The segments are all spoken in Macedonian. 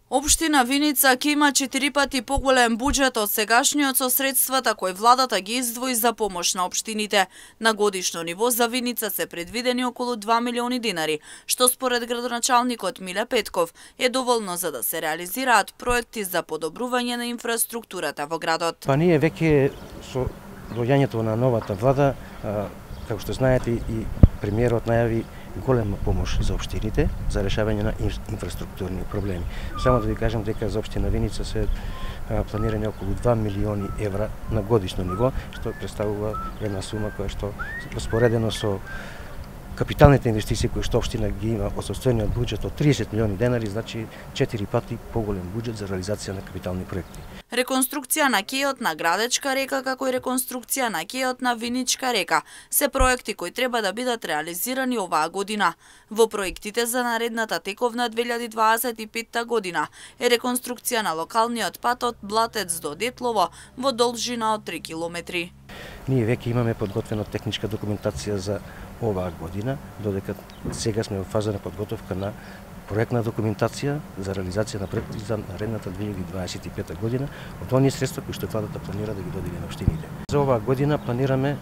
Општина Виница ќе има 4 пати поголем буџет од сегашниот со средствата кои владата ги издвои за помош на општините. На годишно ниво за Виница се предвидени околу 2 милиони динари, што според градоначалникот Миле Петков е доволно за да се реализираат проекти за подобрување на инфраструктурата во градот. Па ние веќе со доаѓањето на новата влада, како што знаете, и премиерот најави голема помош за општините за решавање на инфраструктурни проблеми. Само да ви кажам дека за општина Виница се планирани околу 2 милиони евра на годишно ниво, што представува една сума која што споредено со капиталните инвестиции кои што општина ги има од состојниот буџет од 30 милиони денари, значи 4 пати поголем буџет за реализација на капитални проекти. Реконструкција на кејот на Градечка река, како и реконструкција на кејот на Виничка река, се проекти кои треба да бидат реализирани оваа година. Во проектите за наредната тековна 2025 година е реконструкција на локалниот пат од Блатец до Детлово во должина од 3 километри. Ние веќе имаме подготвена техничка документација за оваа година, додека сега сме во фаза на подготовка на проектна документација за реализација на проекти за наредната 2025 година од оние средства кои што владата планира да ги додели на општините. За оваа година планираме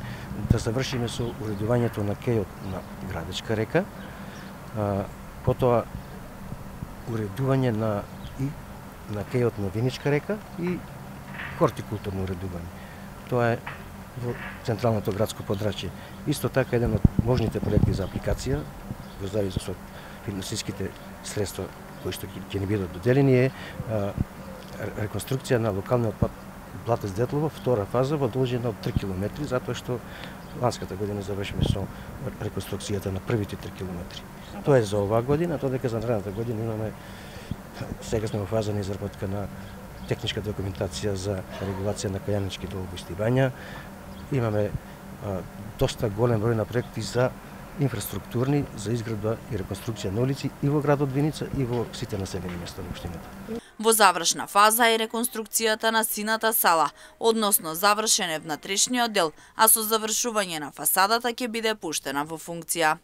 да завршиме со уредувањето на кејот на Градечка река, потоа уредување на кејот на Виничка река и хортикултурно уредување. Тоа е во централното градско подрачје. Исто така еден од можните проекти за апликација во зависност со финансиските средства кои што ќе ни бидат доделени е реконструкција на локалниот пат Блатец Детлово, втора фаза во должина од 3 километри, затоа што ланската година завршиме со реконструкцијата на првите 3 километри. Тоа е за оваа година, додека за наредната година имаме, сега сме во фаза на изработка на техничка документација за регулација на кајанички долбоисти бања. Имаме доста голем број на проекти за инфраструктурни, за изградба и реконструкција на улици и во градот Виница и во сите населени места на општината. Во завршна фаза е реконструкцијата на сината сала, односно завршен е внатрешниот дел, а со завршување на фасадата ќе биде пуштена во функција.